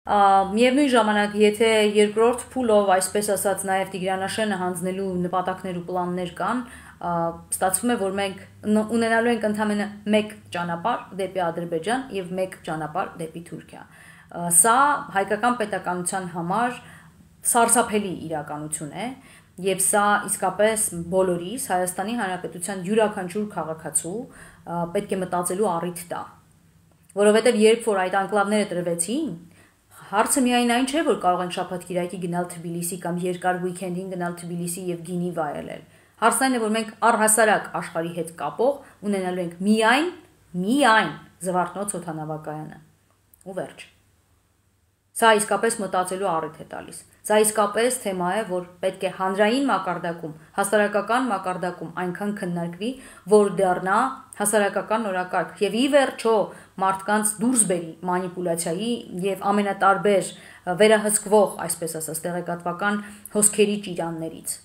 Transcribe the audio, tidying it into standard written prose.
Միևնույն ժամանակ, եթե երկրորդ փուլով, այսպես ասած, նաև Տիգրանաշենը հանձնելու նպատակներ ու պլաններ կան, ստացվում է, որ մենք ունենալու ենք ընդամենը մեկ ճանապարհ դեպի Ադրբեջան եւ մեկ ճանապարհ դեպի Թուրքիա։ Սա հայկական պետականության համար սարսափելի իրականություն է, եւ սա իսկապես բոլորիս Հայաստանի Հանրապետության յուրաքանչյուր քաղաքացու պետք է մտածելու առիթ տա, որովհետեւ երբ որ այդ անկլավները տրվեցին, հարցը միայն այն չէ, որ կարող են շաբաթ-կիրակի գնալ Թբիլիսի կամ երկար ուիկենդին գնալ Թբիլիսի եւ գինի վայելել։ Հարցն այն է, որ մենք առհասարակ աշխարհի հետ կապող ունենալու ենք միայն Զվարթնոց օդանավակայանը։ Ու վերջ։ Սա իսկապես մտածելու առիթ է տալիս։ Սա իսկապես թեմա է, որ պետք է հանրային մակարդակում, հասարակական մակարդակում այնքան քննարկվի, որ դառնա հասարակական նորակարգ եւ ի վերջո մարդկանց դուրս բերի մանիպուլյացիայի եւ ամենատարբեր վերահսկվող, այսպես ասած, տեղեկատվական հոսքերի ճիրաններից։